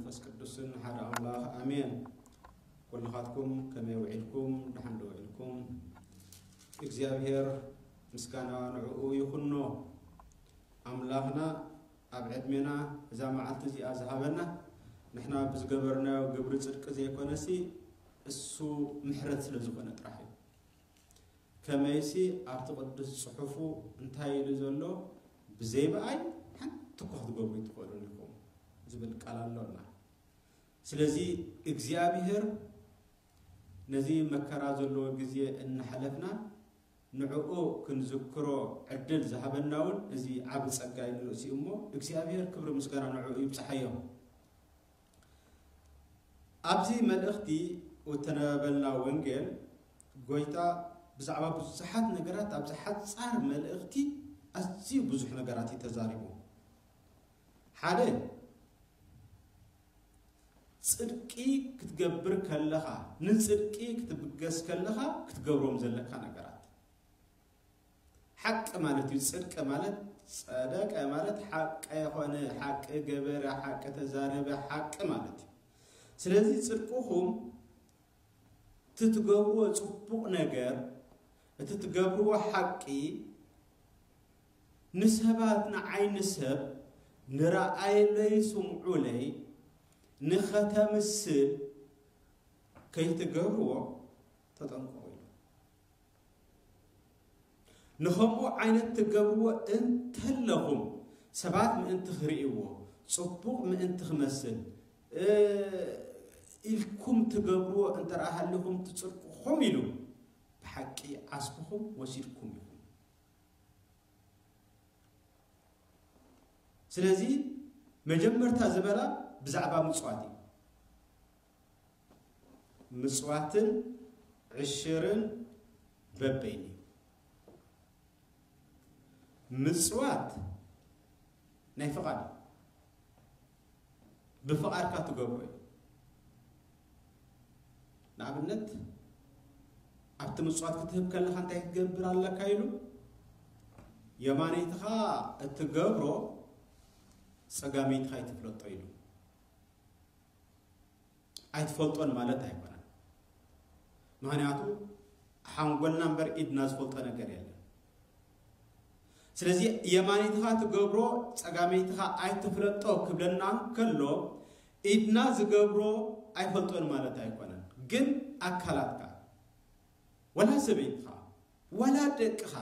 መንፈስ ቅዱስን ሓደ ኣምላኽ ኣሜን። ኩልኻትኩም ከመይ ውዒልኩም? ደሓን ዶ ውዒልኩም? እግዚኣብሔር ምስጋና ንዕኡ ይኹኖ። ኣምላኽና ኣብ ዕድሜና እዛ መዓልቲ እዚኣ ዝሃበና፣ ንሕና ብዝገበርናዮ ግብሪ ጽድቂ ዘይኮነሲ፣ እሱ ምሕረት ስለ ዝኾነ ጥራሕ እዩ። ከመይሲ ኣብቲ ቅዱስ ጽሑፉ እንታይ ኢሉ ዘሎ? "ብዘይ ብኣይ ሓንቲ እኳ ክትገብሩ ኣይትኽእሉን ኢኹም" ዝብል ቃል ኣሎና። ስለዚ እግዚኣብሔር ነዚ መከራ ዘለዎ ግዜ እናሓለፍና ንዕኡ ክንዝክሮ ዕድል ዝሃበና እውን እዚ ዓቢ ጸጋ እዩ ንርእሲ እሞ እግዚኣብሔር ክብሪ ምስጋና ንዕኡ ይብጽሓዮ። ኣብዚ መልእኽቲ እተነበበልና ወንጌል ጎይታ ብዛዕባ ብዙሓት ነገራት ኣብዚ ሓጻር መልእኽቲ ኣዝዩ ብዙሕ ነገራት እዩ ተዛሪቡ። ሓደ ጽድቂ ክትገብር ከለኻ፣ ንጽድቂ ክትብገስ ከለኻ ክትገብሮም ዘለካ ነገራት። ሓቂ ማለት እዩ። ጽድቂ ማለት፣ ጸደቀ ማለት ሓቂ የኾነ፣ ሓቂ ገበረ፣ ሓቂ ተዛረበ፣ ሓቂ ማለት እዩ። ስለዚ ጽድቅኹም፣ እቲ ትገብርዎ ጽቡቕ ነገር፣ እቲ ትገብርዎ ሓቂ ንሰባት፣ ንዓይኒ ሰብ፣ ንረኣየለይ፣ ስምዑለይ፣ ንኸተምስል ከይትገብርዎ ተጠንቀቑ ኢሉ። ንኸምኡ ዓይነት ትገብርዎ እንተለኹም፣ ሰባት ምእንቲ ክርእይዎ፣ ጽቡቕ ምእንቲ ክመስል፣ እ፣ ኢልኩም ትገብርዎ እንተ ደኣ ሃሊኹም፣ ትጽድቅኹም ኢሉ፣ ብሓቂ ዓስብኹም ወሲድኩም ኢኹም። ስለዚ መጀመርታ ዝበላ ብዛዕባ ምጽዋት እዩ። ምጽዋትን ዕሽርን በበይኑ እዩ። ምጽዋት ናይ ፍቓድ እዩ። ብፍቓድካ ትገብሮ እዩ። ንኣብነት፣ ኣብቲ ምጽዋት ክትህብ ከለኻ እንታይ ክትገብር ኣለካ ኢሉ? የማነይትኻ እትገብሮ ጸጋመይትኻ ኣይትፍለጦ ኢሉ። ኣይትፈልጦን ማለት ኣይኮነን። ምኽንያቱ ሓንጎልና እምበር ኢድና ዝፈልጦ ነገር የለን። ስለዚ የማነይትኻ ትገብሮ ጸጋመይትኻ ኣይትፍለጦ ክብለና እንከሎ፣ ኢድና ዝገብሮ ኣይፈልጦን ማለት ኣይኮነን። ግን ኣካላትካ፣ ወላ ሰበይትኻ፣ ወላ ደቅኻ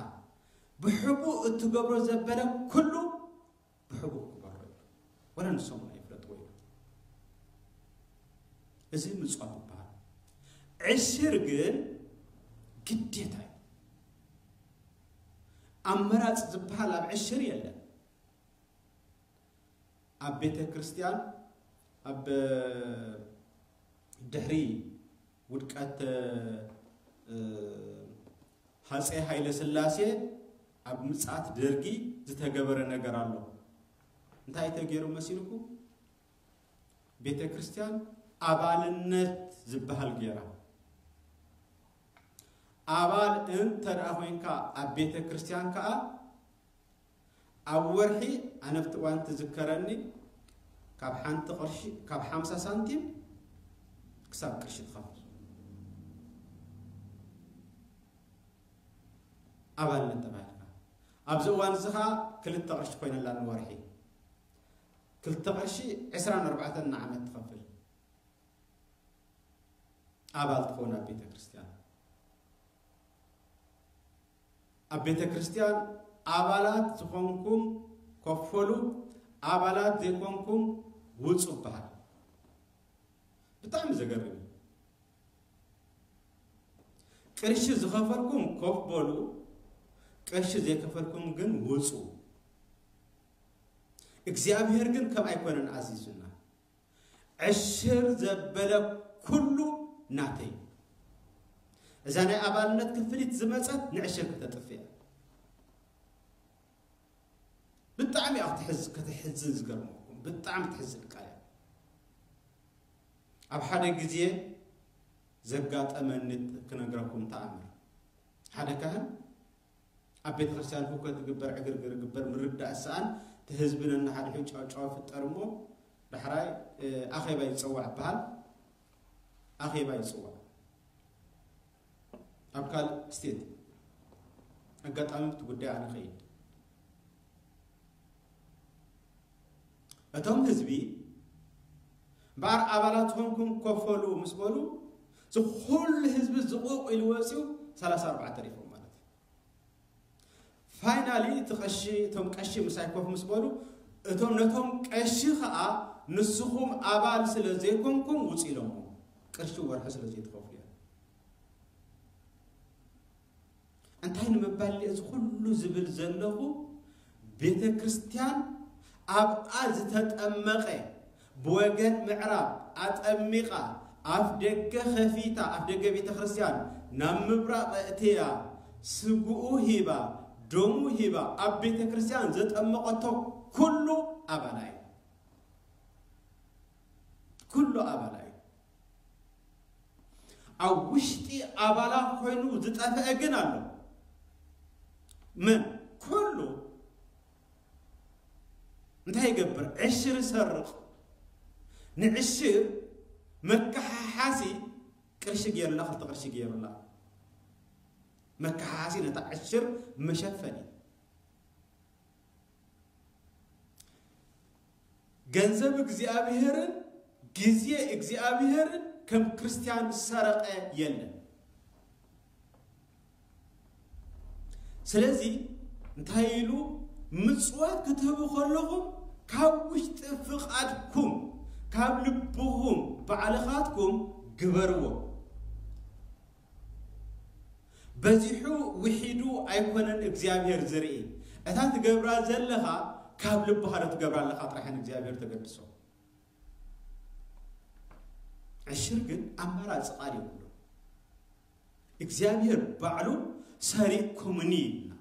ብሕቡእ እትገብሮ ዘበለ ኩሉ ብሕቡእ ክበሮ እዩ። ወላ ንሶም እውን ኣይፍለጥዎ እዩ። እዚ ምጽዋት ይበሃል። ዕሽር ግን ግዴታ እዩ። ኣመራጽ ዝበሃል ኣብ ዕሽር የለን። ኣብ ቤተ ክርስቲያን፣ ኣብ ድሕሪ ውድቀት፣ እ፣ ሃጸይ ሃይለ ስላሴ፣ ኣብ ምጽኣት ደርጊ ዝተገበረ ነገር ኣሎ። እንታይ ተገይሩ መሲልኩም? ቤተ ክርስቲያን ኣባልነት ዝበሃል ገይራ። ኣባል እንተ ደኣ ኮይንካ ኣብ ቤተ ክርስቲያን ከኣ፣ ኣብ ወርሒ፣ ኣነ ኣብቲ እዋን ትዝከረኒ፣ ካብ ሓንቲ ቅርሺ፣ ካብ ሓምሳ ሳንቲም ክሳብ ቅርሺ ትኸፍል፣ ኣባልነት ተባሂልካ። ኣብዚ እዋን እዚ ኸኣ ክልተ ቅርሺ ኮይነላ ንወርሒ። ክልተ ቅርሺ ዕስራን ኣርባዕተን ንዓመት ትኸፍል። ኣባል ትኸውን ኣብ ቤተ ክርስቲያን። ኣብ ቤተ ክርስቲያን ኣባላት ዝኾንኩም ከፈሉ፣ ኣባላት ዘይኮንኩም ውጹ ይበሃል። ብጣዕሚ ዘገርም እዩ። ቅርሺ ዝኸፈልኩም ኮፍ በሉ፣ ቅርሺ ዘይከፈልኩም ግን ውጹ። እግዚኣብሔር ግን ከም ኣይኮነን ኣዚዙና። ዕሽር ዘበለ ኩሉ ናተይ። እዛ ናይ ኣባልነት ክፍሊት ዝመጸት ንዕሽር ከተጥፍእ እያ። ብጣዕሚ እያ ክትሕዝ-፣ ከተሕዝን ዝገርመኩም። ብጣዕሚ ትሕዝን ቃል እያ። ኣብ ሓደ ግዜ ዘጋጠመኒ ክነግረኩም ተኣምር። ሓደ ካህን ኣብ ቤተ ክርስቲያን ህውከት ይግበር፣ ዕግርግር ይግበር፣ ምርዳእ ዝሰኣን፣ እቲ ህዝቢ ነናሓድሕዱ ጫውጫው ይፍጠር እሞ፣ ዳሕራይ ኣኼባ ይፀዋዕ ይበሃል። ኣኼባ ይፅዋዕ ኣብ ካልእ ስቴት፣ ኣጋጣሚ እቲ ጉዳይ ኣነ ከይድ። እቶም ህዝቢ እምበኣር ኣባላት ዝኾንኩም ኮፈሉ ምስ በሉ፣ ዝኩሉ ህዝቢ ዝቑቕ ኢሉ ወፂኡ፣ ሰላሳ ኣርባዕተ ተሪፎም ማለት እዩ። ፋይናሊ እቲ ቀሺ፣ እቶም ቀሺ ምሳይ ኮፍ ምስ በሉ፣ እቶም ነቶም ቀሺ ኸዓ ንስኹም ኣባል ስለ ዘይኮንኩም ውፁ ኢሎሞ፣ ቅርሺ ወርሒ ስለ ዘይትኸፍሉ እዮም። እንታይ ንምባል እዚ ኩሉ ዝብል ዘለኹ፣ ቤተ ክርስቲያን ኣብኣ ዝተጠመቐ ብወገን ምዕራብ ኣጠሚቓ ኣፍ ደገ ከፊታ፣ ኣፍ ደገ ቤተ ክርስቲያን ናብ ምብራቕ እትያ ስግኡ ሂባ፣ ደሙ ሂባ ኣብ ቤተ ክርስቲያን ዘጠመቐቶ ኩሉ ኣባላ እዩ። ኩሉ ኣባላ እዩ። ኣብ ውሽጢ ኣባላ ኮይኑ ዝጠፈአ ግን ኣሎ። ምን ኩሉ እንታይ ይገብር? ዕሽር ይሰርቕ። ንዕሽር መከሓሓሲ ቅርሺ ገይሩላ፣ ክልተ ቅርሺ ገይሩላ። መከሓሓሲ ነታ ዕሽር መሸፈኒ። ገንዘብ እግዚኣብሔርን ግዜ እግዚኣብሔርን ከም ክርስቲያን ዝሰረቐ የለን። ስለዚ እንታይ ኢሉ? ምጽዋት ክትህቡ ከለኹም ካብ ውሽጢ ፍቓድኩም፣ ካብ ልብኹም፣ ባዕልኻትኩም ግበርዎ። በዚሑ ውሒዱ ኣይኮነን እግዚኣብሔር ዝርኢ። እታ ትገብራ ዘለኻ ካብ ልብኻ ዶ ትገብራ ኣለኻ ጥራሕን እግዚኣብሔር ተገድሶ። ዕሽር ግን ኣማራጺ ቃል የብሉ። እግዚኣብሔር ባዕሉ ሰሪቕኩምኒ ኢልና።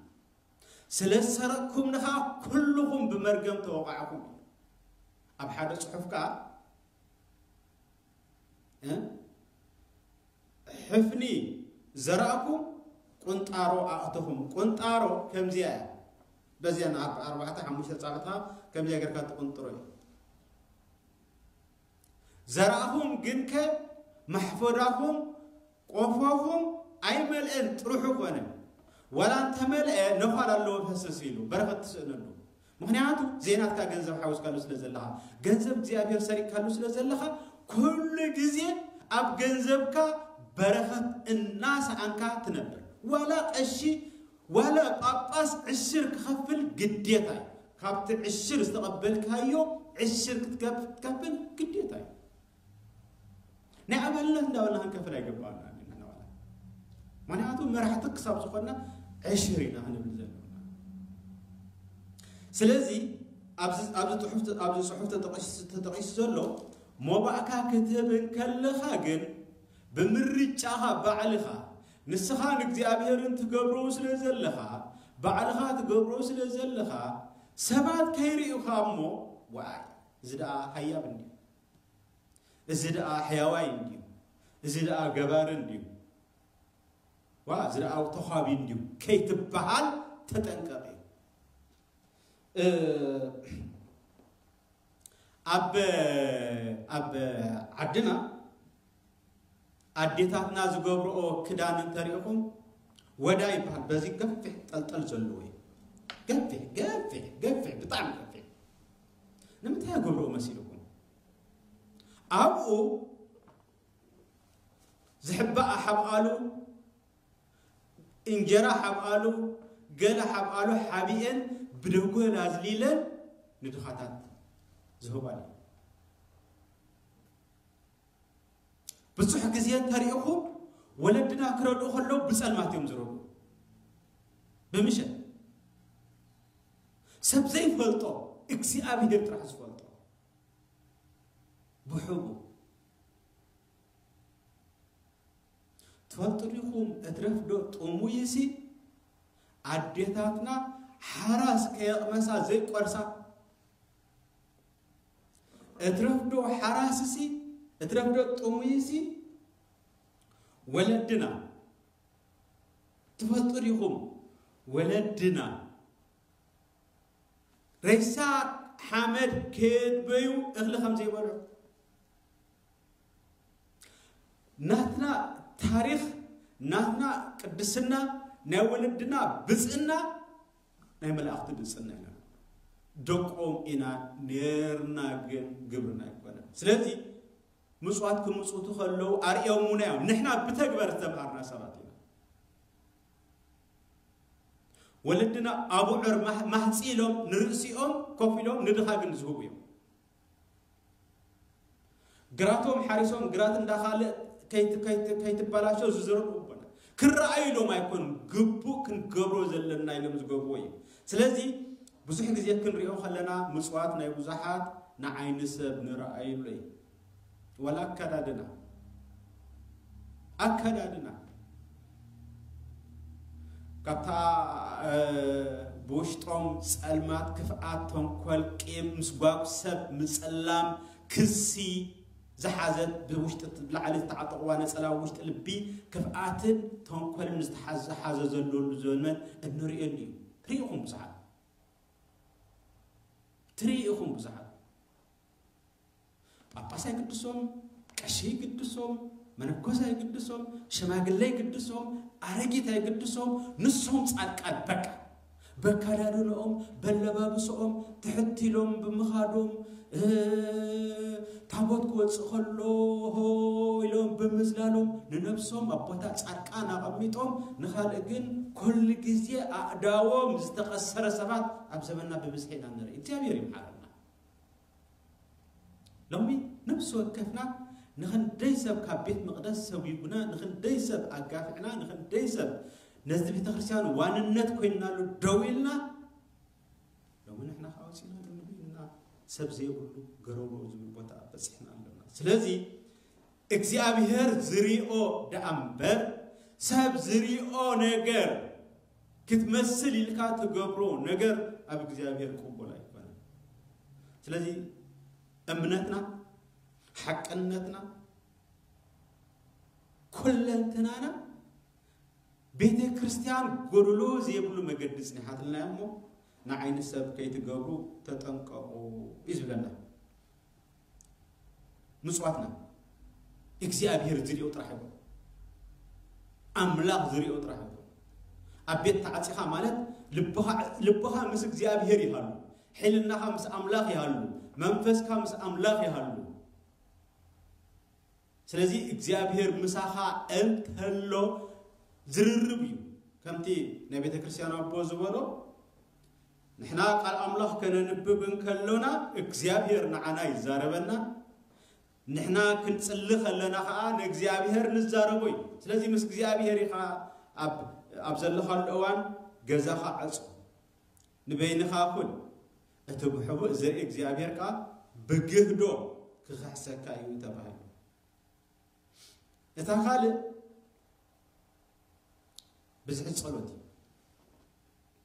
ስለ ዝሰረቕኩምኒ ኸዓ ኩልኹም ብመርገም ተወቃዕኹም። ኣብ ሓደ ጽሑፍ ከኣ እ? ሕፍኒ ዘራእኩም ቁንጣሮ ኣእተኹም። ቁንጣሮ ከምዚኣ እያ። በዚኣ ናብ ኣርባዕተ ሓሙሽተ ጻብዕትኻ ከምዚኣ ጌርካ ትቁንጥሮ እዩ። ዘራእኹም ግንከ ማሕፈዳኹም ቆፎኹም ኣይመልአን ጥርሑ ኮነ። ዋላ እንተመልአ ነዃል ኣለዎ ፈሰስ ኢሉ በረኸት ትስእነሉ። ምኽንያቱ ዘይናትካ ገንዘብ ሓዊስካሉ ስለ ዘለኻ፣ ገንዘብ እግዚኣብሔር ሰሪቅካሉ ስለ ዘለኻ፣ ኩሉ ግዜ ኣብ ገንዘብካ በረኸት እናሰኣንካ ትነብር። ዋላ ቀሺ ዋላ ጳጳስ ዕሽር ክኸፍል ግዴታ እዩ። ካብቲ ዕሽር ዝተቐበልካዮ ዕሽር ክትከፍ-፣ ክትከፍል ግዴታ እዩ። ናይ ኣባልነት እንዳበልና ክንከፍል ኣይገባና። ምኽንያቱ መራሕቲ ክሳብ ዝኾንና ዕሽር ኢና ክንብል ዘለና። ስለዚ ኣብዚ፣ ኣብዚ ጽሑፍ፣ ኣብዚ ጽሑፍ ተጠቒሱ፣ ተጠቒሱ ዘሎ ሞባእካ ክትህብ እንከለኻ ግን ብምርጫኻ ባዕልኻ ንስኻ ንእግዚኣብሔርን ትገብሮ ስለ ዘለኻ፣ ባዕልኻ ትገብሮ ስለ ዘለኻ፣ ሰባት ከይርእዩኻ እሞ፣ ዋይ፣ እዚ ደኣ ሃያብ እንድዩ፣ እዚ ደኣ ሕያዋይ እንድዩ፣ እዚ ደኣ ገባሪ እንድዩ፣ ዋ፣ እዚ ደኣ ተዃቢ እንድዩ ከይትበሃል ተጠንቀቕ እዩ። እ፣ ኣብ፣ ኣብ ዓድና ኣዴታትና ዝገብርኦ ክዳን እንተሪእኹም ወዳ ይበሃል። በዚ ገፊሕ ጠልጠል ዘለዎ እዩ። ገፊሕ፣ ገፊሕ፣ ገፊሕ፣ ብጣዕሚ ገፊሕ። ንምንታይ ይገብርኦ መሲልኩም? ኣብኡ ዝሕባእ ሓብኣሉ፣ እንጀራ ሓብኣሉ፣ ገለ ሓብኣሉ ሓቢኤን ብደጎል ኣዝሊለን ንድኻታት ዝህባሉ። ብዙሕ ግዜ እንተሪእኹም ወለድና ክረድኡ ከለዉ ብጸልማት እዮም ዝረድኡ። ብምሸት ሰብ ዘይፈልጦ እግዚኣብሔር ጥራሕ ዝፈልጦ ብሕቡ ትፈልጡ ዲኹም? እትረፍዶ ጥሙይሲ ኣዴታትና ሓራስ ከየቕመሳ ዘይቆርሳ። እትረፍዶ ሓራስሲ፣ እትረፍዶ ጥሙይሲ ወለድና። ትፈልጡ ዲኹም? ወለድና ሬሳ ሓመድ ከየድበዩ እኽሊ ከም ዘይበልዑ። ናትና ታሪኽ፣ ናትና ቅድስና፣ ናይ ወለድና ብፅዕና ናይ መላእኽቲ ብፅዕና ኢና። ደቆም ኢና ነርና፣ ግን ግብርና ኣይኮነን። ስለዚ ምጽዋት ክምጽውቱ ከለዉ ኣርእዮሙና እዮም። ንሕና ብተግባር ዝተምሃርና ሰባት ኢና። ወለድና ኣቡዑር ማህ- ማህጺ ኢሎም ንርእሲኦም ኮፍ ኢሎም ንድኻ ግን ዝህቡ እዮም። ግራቶም ሓሪሶም ግራት እንዳኻልእ ከይት- ከይት- ከይትበላሸው ዝዘርኡ ኣቦና። ክረኣዩ ኢሎም ኣይኮኑን፣ ግቡእ ክንገብሮ ዘለና ኢሎም ዝገብርዎ እዩ። ስለዚ ብዙሕ ግዜ ክንሪኦ ከለና ምጽዋት ናይ ብዙሓት ንዓይኒ ሰብ ንረኣየሉ እዩ። ወላ ኣከዳድና ኣከዳድና ካብታ ብውሽጦም ጸልማት፣ ክፍኣት፣ ተንኮል፣ ቂም፣ ምስጓግ ሰብ፣ ምጽላም፣ ክሲ ዝሓዘት፣ ብውሽጢ ብላዕሊ ዝተዓጠቕዋ ነጸላ ውሽጢ ልቢ ክፍኣትን ተንኮልን ዝተሓዘ ዝሓዘ ዘለሉ ዘመን እንርእየሉ እዩ። ትርኢ ኢኹም ብዙሓት፣ ትርኢ ኢኹም ብዙሓት። ጳጳስ ኣይግድሶም፣ ቀሺ ኣይግድሶም፣ መነኮስ ኣይግድሶም፣ ሽማግለ ኣይግድሶም፣ ኣረጊት ኣይግድሶም። ንሶም ጻድቃን በቃ። በካዳድንኦም፣ በለባብስኦም፣ ትሕት ኢሎም ብምኻዶም፣ እ፣ ታቦት ክወጽእ ከሎ ሆ ኢሎም ብምዝላሎም፣ ንነብሶም ኣብ ቦታ ጻድቃን ኣቐሚጦም፣ ንኻልእ ግን ኩሉ ግዜ ኣእዳዎም ዝተቐሰረ ሰባት ኣብ ዘመንና ብብዝሒ ኢና ንርኢ። እግዚኣብሔር ይምሓረና። ሎሚ ነብሲ ወከፍና ንኽንደይ ሰብ ካብ ቤት መቕደስ ሰጒጉና፣ ንኽንደይ ሰብ ኣጋፊዕና፣ ንኽንደይ ሰብ ነዚ ቤተ ክርስቲያን ዋንነት ኮይንናሉ ደው ኢልና፣ ሎሚ ንሕና ከዓ ወፂና ሎሚ ኢና ሰብ ዘይብሉ ገረሮ ዝብል ቦታ በፂሕና ኣለና። ስለዚ እግዚኣብሔር ዝሪኦ ደኣ እምበር ሰብ ዝሪኦ ነገር ክትመስል ኢልካ ትገብሮ ነገር ኣብ እግዚኣብሔር ቅቡል ኣይኮነን። ስለዚ እምነትና፣ ሓቅነትና፣ ኩለንትናና ቤተ ክርስቲያን ጎደሎ ዘይብሉ መገዲ ጽኒሓትልና እሞ ንዓይኒ ሰብ ከይትገብሩ ተጠንቀቑ እዩ ዝብለና። ምጽዋትና እግዚኣብሔር ዝሪኦ ጥራሕ ይኹን፣ ኣምላኽ ዝሪኦ ጥራሕ ይኹን። ኣብ ቤት ተዓጺኻ ማለት ልብኻ፣ ልብኻ ምስ እግዚኣብሔር ይሃሉ፣ ሕልናኻ ምስ ኣምላኽ ይሃሉ፣ መንፈስካ ምስ ኣምላኽ ይሃሉ። ስለዚ እግዚኣብሔር ምሳኻ እንተሎ ዝርርብ እዩ። ከምቲ ናይ ቤተ ክርስቲያን ኣቦ ዝበሎ፣ ንሕና ቃል ኣምላኽ ከነንብብ እንከሎና እግዚኣብሔር ንዓና ይዛረበና፣ ንሕና ክንጽሊ ከለና ኸዓ ንእግዚኣብሔር ንዛረቦ እዩ። ስለዚ ምስ እግዚኣብሔር ኢኻ ኣብ፣ ኣብ ዘለኻሉ እዋን ገዛኻ ዕጾ፣ ንበይንኻ ኩን፣ እቲ ብሕቡእ ዝርኢ እግዚኣብሔር ከኣ ብግህዶ ክኽሕሰካ እዩ ተባሂሉ። እታ ካልእ ብዝሒ ጸሎት እዩ።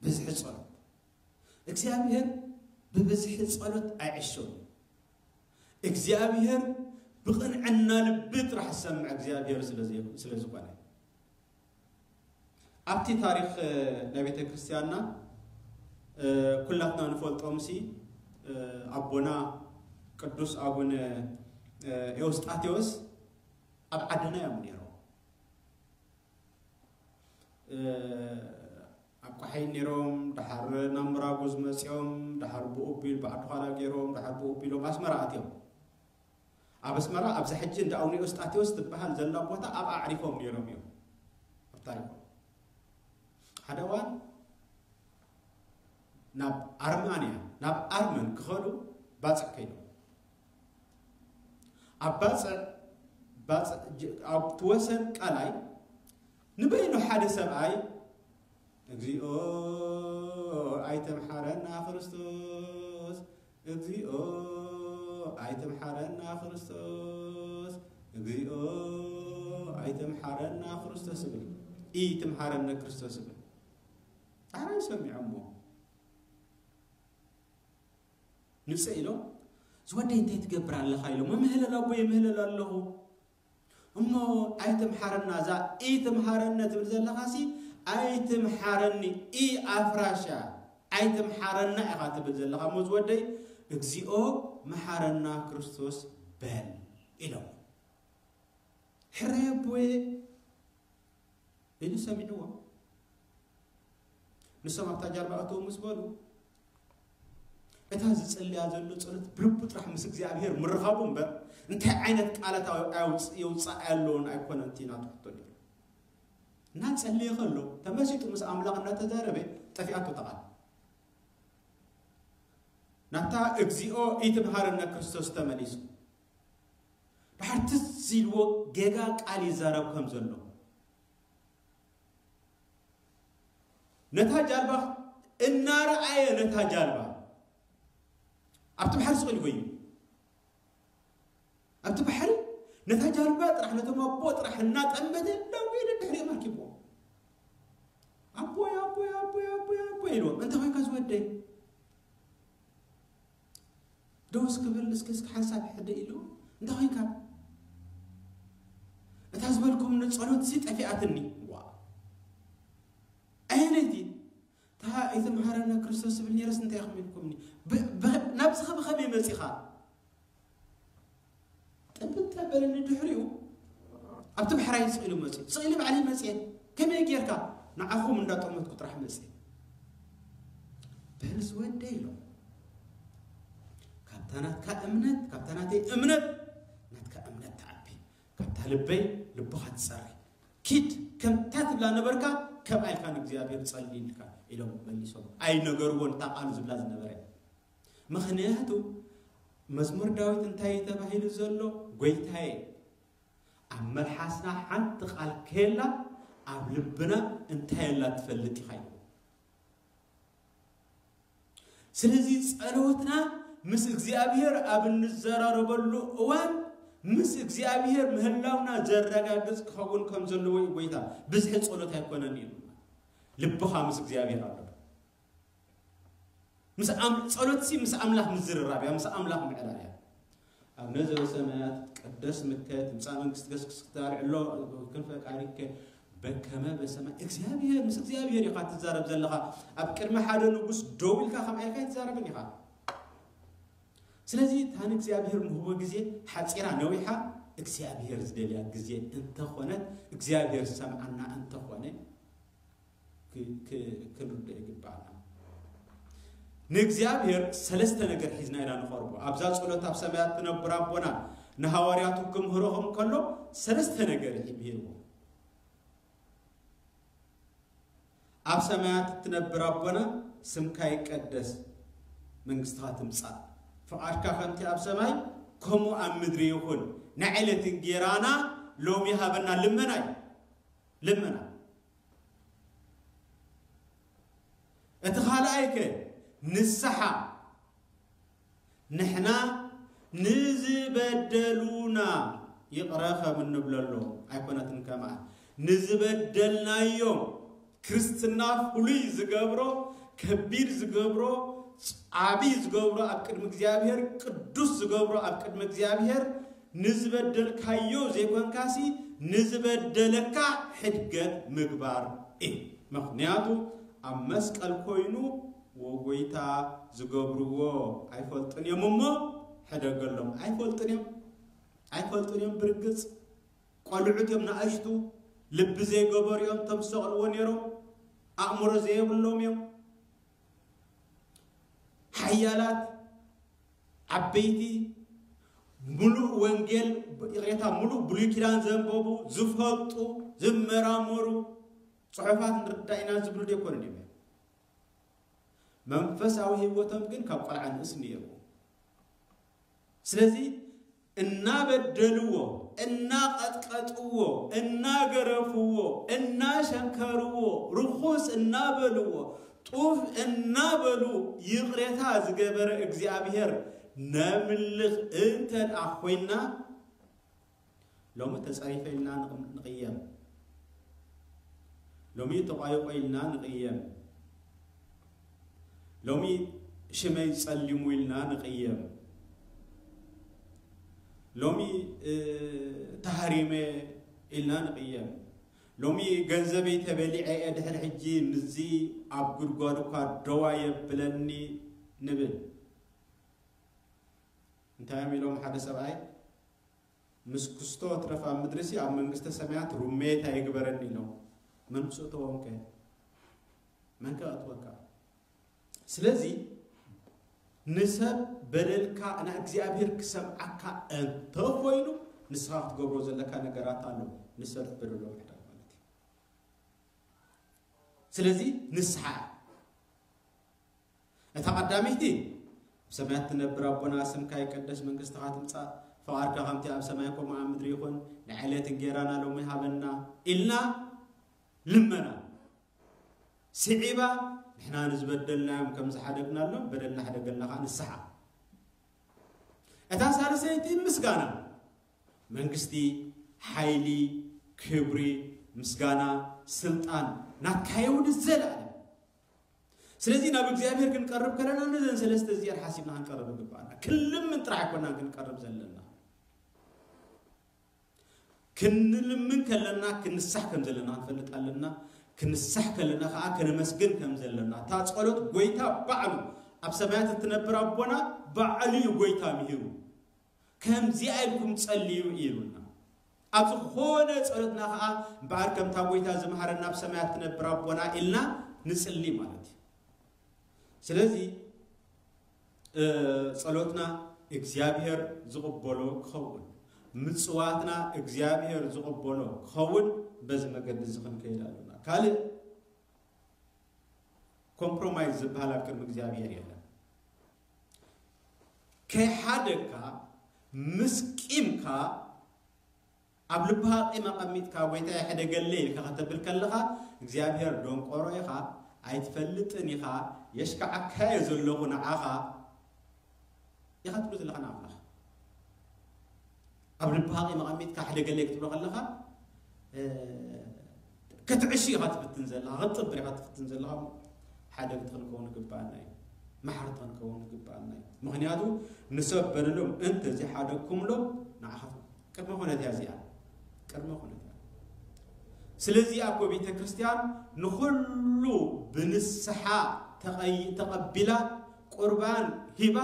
ብዝሒ ጸሎት። እግዚኣብሔር ብብዝሒ ጸሎት ኣይዕሾን እዩ። እግዚኣብሔር ብቕንዕና ልቢ ጥራሕ ዝሰምዕ እግዚኣብሔር ስለ ዘይ-፣ ስለ ዝኾነ። ኣብቲ ታሪኽ፣ እ፣ ናይ ቤተ ክርስቲያንና፣ እ፣ ኩላትና ንፈልጦምሲ፣ እ፣ ኣቦና ቅዱስ ኣቡነ፣ እ፣ ኤውስጣቴዎስ ኣብ ዓድና እዮም ነይሮም። እ፣ ኣብ ቋሒን ነይሮም፣ ደሓር ናብ ምራጉዝ መጺኦም፣ ደሓር ብኡቢል ብዓዲ ዃላ ገይሮም፣ ደሓር ብኡቢሎም ኣስመራ ኣትዮም። ኣብ ኣስመራ ኣብዛ ሕጂ እንዳ ኣቡነ ኤውስጣቴዎስ ትበሃል ዘላ ቦታ ኣብ ኣዕሪፎም ነይሮም እዮም ኣብ ታሪኾም። ሓደ እዋን ናብ ኣርማንያ፣ ናብ ኣርመን ክኸዱ ባጽዕ ከይዶም። ኣብ ባጽዕ፣ ባጽዕ ጅ-፣ ኣብቲ ወሰን ቃላይ ንበይኑ ሓደ ሰብኣይ፣ "እግዚኦ ኣይተምሓረና ክርስቶስ፣ እግዚኦ ኣይተምሓረና ክርስቶስ፣ እግዚኦ ኣይተምሓረና ክርስቶስ" ይብል። "ኢትምሓረነ ክርስቶስ" ይብል። ዳሕራይ ሰሚዖሞ። ንጽእ ኢሎም፣ "ዝወደይ እንታይ ትገብር ኣለኻ?" ኢሎም፣ "መምህለል ኣቦ የምህለል ኣለኹ። እሞ ኣይትምሓረና፣ እዛ ኢትምሃረነ ትብል ዘለኻሲ ኣይትምሓረኒ፣ ኢ ኣፍራሻ ኣይትምሓረና ኢኻ ትብል ዘለኻ። እሞ ዝወደይ "እግዚኦ መሓረና ክርስቶስ በል" ኢሎም። "ሕራይ ኣቦየ" ኢሉ ሰሚዕዎ። ንሶም ኣብታ ጃልባ እተው ምስ በሉ፣ እታ ዝጸልያ ዘሎ ጸሎት ብልቡ ጥራሕ ምስ እግዚኣብሔር ምርኻቡ እምበር፣ እንታይ ዓይነት ቃላት ኣው-፣ ኣውጽ-፣ የውጽእ ኣለዎን ኣይኮነን እቲ ናቱ ሕቶ ነይሩ። እናጸለየ ከሎ፣ ተመሲጡ ምስ ኣምላኽ እናተዛረበ፣ ጠፊኣቶ እታ ቃል። ናብታ "እግዚኦ ኢትምሃረነ ክርስቶስ" ተመሊሱ። ድሓር ትዝ ኢልዎ ጌጋ ቃል ይዛረብ ከም ዘሎ። ነታ ጃልባ እናረኣየ፣ ነታ ጃልባ ኣብቲ ባሕሪ ስቕ ኢሉ ኮይኑ፣ ኣብቲ ባሕሪ ነታ ጃልባ ጥራሕ፣ ነቶም ኣቦ ጥራሕ እናጠመተ ደው ኢሉ ድሕሪኦም ኣርኪብዎ። "ኣቦይ፣ ኣቦይ፣ ኣቦይ፣ ኣቦይ፣ ኣቦይ" ኢልዎም። "እንታይ ኮይንካ ዝወደይ?" "ደው እስኪ በል እስኪ፣ እስኪ ሓንሳብ ሕደ" ኢሉ። "እንታይ ኮይንካ?" "እታ ዝበልኩም ንጸሎት ሲ ጠፊኣትኒ።" "ዋ፣ ኣየነይቲ?" "እታ ኢትምሃረነ ክርስቶስ ዝብል ነይረስ እንታይ ኢኹም ኢልኩምኒ?" ብ-፣ ብ-፣ ናብዚ ኸ ብኸመይ መጺኻ? ጥብጥ ተበለኒ። ድሕሪኡ ኣብቲ ባሕራይ ስቕ ኢሉ መጽዩ፣ ስቕ ኢሉ ባዕለይ መጽየ። "ከመይ ጌርካ?" "ንዓኹም እንዳጠመትኩ ጥራሕ መጽየ።" "በል ዝወደይ" ኢሎም። "ካብታ ናትካ እምነት፣ ካብታ ናተይ እምነት፣ ናትካ እምነት ትዓቢ። ካብታ ልበይ ልብኻ ትጸሪ። ኪድ፣ ከምታ ትብላ ነበርካ፣ ከምኣ ኢልካ ንእግዚኣብሔር ጸሊ" ኢልካ፣ ኢሎም መሊሶም። ኣይነገርዎን እታ ቃሉ ዝብላ ዝነበረ። ምኽንያቱ መዝሙር ዳዊት እንታይ እዩ ተባሂሉ ዘሎ? "ጎይታዬ፣ ኣብ መልሓስና ሓንቲ ቃል ከየላ፣ ኣብ ልብና እንታይ ኣላ ትፈልጥ ኢኻ" ኢሉ። ስለዚ ጸሎትና ምስ እግዚኣብሔር ኣብ እንዘራረበሉ እዋን፣ ምስ እግዚኣብሔር ምህላውና ዘረጋግጽ ክኸውን ከም ዘለዎ እዩ ጎይታ። ብዝሒ ጸሎት ኣይኮነን እዩ። ልብኻ ምስ እግዚኣብሔር ኣሎ። ምስ ኣም-፣ ጸሎትሲ ምስ ኣምላኽ ምዝርራብ እያ፣ ምስ ኣምላኽ ምዕላል እያ። "ኣቡነ ዘበሰማያት፣ ይትቀደስ ስምከ፣ ትምጻእ መንግስትከ፣ እስክስክታ ልዕሎ ክንፈቃሪከ በከመ በሰማይ።" እግዚኣብሔር፣ ምስ እግዚኣብሔር ኢኻ ትዛረብ ዘለኻ። ኣብ ቅድሚ ሓደ ንጉስ ደው ኢልካ ከምኣ ኢልካ ኣይትዛረብን ኢኻ። ስለዚ እታ ንእግዚኣብሔር ንህቦ ግዜ ሓጺራ ነዊሓ፣ እግዚኣብሔር ዝደልያ ግዜ እንተኾነት፣ እግዚኣብሔር ዝሰምዓና እንተኾነ፣ ክ-፣ ክ-፣ ክንርድኦ ይግባኣና። ንእግዚኣብሔር ሰለስተ ነገር ሒዝና ኢና ንቐርቦ። ኣብዛ ጸሎት ኣብ ሰማያት ትነብር ኣቦና ንሃዋርያቱ ክምህሮም ከሎ ሰለስተ ነገር እዩ ምሂርዎ። "ኣብ ሰማያት እትነብር ኣቦና፣ ስምካ ይቀደስ፣ መንግስትኻ ትምጻእ፣ ፍቓድካ ከምቲ ኣብ ሰማይ ከምኡ ኣብ ምድሪ ይኹን፣ ናይ ዕለት እንጌራና ሎሚ ሃበና" ልመና እዩ። ልመና። እቲ ካልኣይ ከ ንስሓ፣ ንሕና ንዝበደሉና ይቕረ ከም እንብለሎም ኣይኮነትን ከማን፣ ንዝበደልናዮም ክርስትና ፍሉይ ዝገብሮ፣ ከቢድ ዝገብሮ፣ ዓቢ ዝገብሮ፣ ኣብ ቅድሚ እግዚኣብሔር ቅዱስ ዝገብሮ፣ ኣብ ቅድሚ እግዚኣብሔር ንዝበደልካዮ ዘይኮንካሲ ንዝበደለካ ሕድገት ምግባር እዩ። ምኽንያቱ ኣብ መስቀል ኮይኑ "ወጎይታ ዝገብርዎ ኣይፈልጡን እዮም እሞ ሕደገሎም።" ኣይፈልጡን እዮም፣ ኣይፈልጡን እዮም። ብርግጽ ቆልዑት እዮም፣ ንኣሽቱ ልቢ ዘይገበሩ እዮም፣ እቶም ዝሰቕልዎ ነይሮም ኣእምሮ ዘየብሎም እዮም። ሓያላት ዓበይቲ፣ ምሉእ ወንጌል፣ ይቕሬታ፣ ምሉእ ብሉይ ኪዳን ዘንበቡ፣ ዝፈልጡ፣ ዝመራመሩ፣ ጽሑፋት ንርዳእ ኢና ዝብሉ ዘይኮኑን እዮም። መንፈሳዊ ህይወቶም ግን ካብ ቆልዓ ንእስ ነይርዎ። ስለዚ እናበደልዎ፣ እናቐጥቀጥዎ፣ እናገረፍዎ፣ እናሸንከርዎ፣ ርኹስ እናበልዎ፣ ጡፍ እናበሉ ይቕሬታ ዝገበረ እግዚኣብሔር ነምልኽ እንተ ደኣ ኮይንና፣ ሎሚ ተጸሪፈ ኢልና ንቕ-፣ ንቕየም። ሎሚ ተቋይቆ ኢልና ንቕየም። ሎሚ ሽመይ ጸሊሙ ኢልና ንቕየም። ሎሚ፣ እ፣ ተሃሪመ ኢልና ንቕየም። ሎሚ ገንዘበይ ተበሊዐ እየ፣ ድሕሪ ሕጂ ምስዚ ኣብ ጉድጓድ እኳ ደው ኣየብለኒ ንብል። እንታይ እዮም ኢሎም ሓደ ሰብኣይ ምስ ክስቶ ትረፍ ኣብ ምድሪ ሲ ኣብ መንግስተ ሰማያት ሩሜት ኣይግበረኒ ኢሎም። መን ምስ እተዎም ከ? መን ከ ኣእትወካ? ስለዚ ንሰብ በደልካ ንእግዚኣብሔር ክሰምዓካ እንተኾይኑ ንስኻ ክትገብሮ ዘለካ ነገራት ኣሎ። ንሰብ በደሎ ምሕዳግ ማለት እዩ። ስለዚ ንስሓ እታ ቀዳመይቲ ኣብ ሰማያት ትነብር ኣቦና ስምካ ይቀደስ መንግስትኻ ትምጻእ ፈቃድካ ከምቲ ኣብ ሰማይ ከምኡ ኣብ ምድሪ ይኹን ንዕለት እንጌራና ሎሚ ሃበና ኢልና ልመና ስዒባ ንሕና ንዝበደልናዮም ከም ዝሓደግናሎም በደልና ሓደገልና ከዓ ንስሓ እታ ሳልሰይቲ ምስጋና መንግስቲ ሓይሊ ክብሪ ምስጋና ስልጣን ናትካ ይውን ዘለኣለም ስለዚ ናብ እግዚኣብሔር ክንቀርብ ከለና ነዘን ሰለስተ እዚኣን ሓሲብና ክንቀርብ ይግባኣና ክንልምን ጥራሕ ኣይኮናን ክንቀርብ ዘለና ክንልምን ከለና ክንሳሕ ከም ዘለና ክንፈልጥ ኣለና ክንሳሕ ከለና ከዓ ከነመስግን ከም ዘለና እታ ጸሎት ጎይታ ባዕሉ ኣብ ሰማያት እትነብር ኣቦና ባዕሉ እዩ ጎይታ ምሂሩ ከምዚኣ ኢልኩም ጸልዩ ኢሉና ኣብ ዝኾነ ጸሎትና ከዓ እምበኣር ከምታ ጎይታ ዝመሃረና ኣብ ሰማያት ትነብር ኣቦና ኢልና ንጽሊ ማለት እዩ ስለዚ ጸሎትና እግዚኣብሔር ዝቕበሎ ክኸውን ምፅዋትና እግዚኣብሔር ዝቕበሎ ክኸውን በዚ መገዲ እዚ ክንከይድ ኣለና ካልእ ኮምፕሮማይዝ ዝበሃል ኣብ ቅድሚ እግዚኣብሔር የለን ከይሓደግካ ምስ ቂምካ ኣብ ልብኻ ቂም ኣቐሚጥካ ጎይታ የሕደገለይ ኢልካ ከተብል ከለኻ እግዚኣብሔር ደንቆሮ ኢኻ ኣይትፈልጥን ኢኻ የሽካዓካየ ዘለኹ ንዓኻ ኢኻ ትብሎ ዘለኻ ንኣምላኽ ኣብ ልብኻ ቂም ኣቐሚጥካ ሕደገለይ ክትብሎ ከለኻ ክትዕሽ ኢኻ ትፍትን ዘለኻ ክትጥብር ኢኻ ትፍትን ዘለኻ ሓደግቲ ክንከውን ይግባኣና እዩ ማሕርቲ ክንከውን ይግባኣና እዩ ምክንያቱ ንሰብ በደሎም እንተዘይሓደግኩምሎም ንዓኻ ቅድመ ኩነት እያ እዚኣ ቅድመ ኩነት እያ ስለዚ እኮ ቤተ ክርስቲያን ንኩሉ ብንስሓ ተቐቢላ ቁርባን ሂባ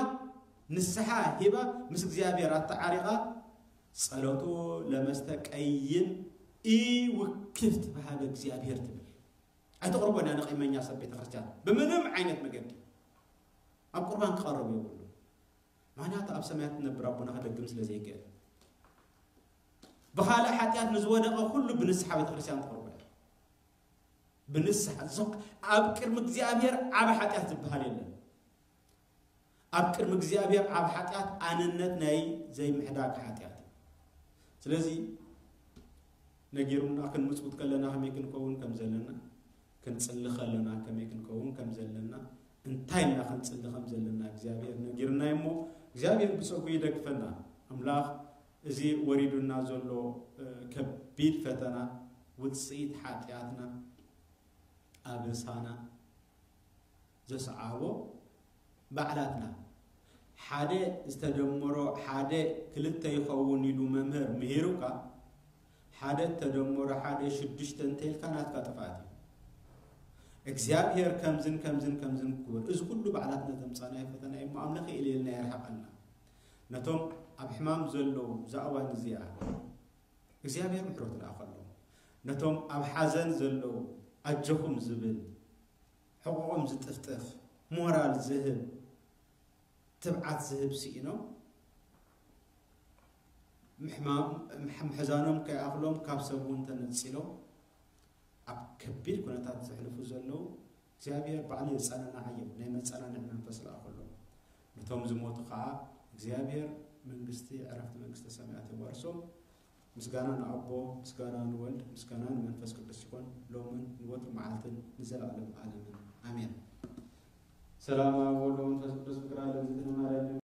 ንስሓ ሂባ ምስ እግዚኣብሔር ኣተዓሪቓ ጸሎቱ ለመስተቀይም ኢውክፍት በሃበ እግዚኣብሔር ትብል ኣይተቕርቦን እያ ንቂመኛ ሰብ ቤተ ክርስቲያን ብምንም ዓይነት መገዲ ኣብ ቁርባን ክቐርብ የብሉ ምክንያቱ ኣብ ሰማያት ትነብር ኣቦና ከደግም ስለ ዘይክእል ብኻልእ ሓጢኣት ንዝወደቐ ኩሉ ብንስሓ ቤተ ክርስቲያን ትቕርቦ እያ ብንስሓ ኣብ ቅድሚ እግዚኣብሔር ዓብ ሓጢኣት ዝበሃል የለን ኣብ ቅድሚ እግዚኣብሔር ዓብ ሓጢኣት ኣንነት ናይ ዘይምሕዳግ ሓጢኣት እዩ ስለዚ ነጊሩና ክንምፅውት ከለና ከመይ ክንከውን ከም ዘለና ክንፅሊ ከለና ከመይ ክንከውን ከም ዘለና እንታይ ኢልና ክንፅሊ ከም ዘለና እግዚኣብሔር ነጊርና እሞ እግዚኣብሔር ብፀጉ ይደግፈና ኣምላኽ እዚ ወሪዱና ዘሎ ከቢድ ፈተና ውፅኢት ሓጢኣትና ኣበሳና ዘስዓቦ ባዕላትና ሓደ ዝተደመሮ ሓደ ክልተ ይኸውን ኢሉ መምህር ምሂሩካ ሓደ ተደመሮ ሓደ ሽዱሽተ እንተይልካ ናትካ ጥፍኣት እዩ እግዚኣብሔር ከምዝን ከምዝን ከምዝን ክግበር እዚ ኩሉ ባዕላትና ዘምፃናዮ ፈተና እዩ እሞ ኣምላኽ ኢለ ኢልና የርሓቐልና ነቶም ኣብ ሕማም ዘለዉ ብዛ እዋን እዚኣ እግዚኣብሔር ምሕረቱ ልኣኸሎም ነቶም ኣብ ሓዘን ዘለዉ ኣጆኹም ዝብል ሕቑቖም ዝጥፍጥፍ ሞራል ዝህብ ትብዓት ዝህብ ስኢኖም ምሕዛኖም ከይኣኽሎም ካብ ሰብ እውን ተነፂሎም ኣብ ከቢድ ኩነታት ዘሕልፉ ዘለዉ እግዚኣብሔር ባዕሉ የፀናንዓዮም ናይ መፀናንዒ መንፈስ ልኣኸሎም ነቶም ዝሞቱ ከዓ እግዚኣብሔር መንግስቲ ዕረፍቲ መንግስተ ሰማያት የዋርሶም ምስጋና ንኣቦ ምስጋና ንወልድ ምስጋና ንመንፈስ ቅዱስ ይኾን ሎምን ንወትሩ መዓልትን ንዘለኣለም ዓለምን ኣሜን ሰላም ኣብ ወልድ መንፈስ ቅዱስ ፍቅር ኣለዚትንማርያም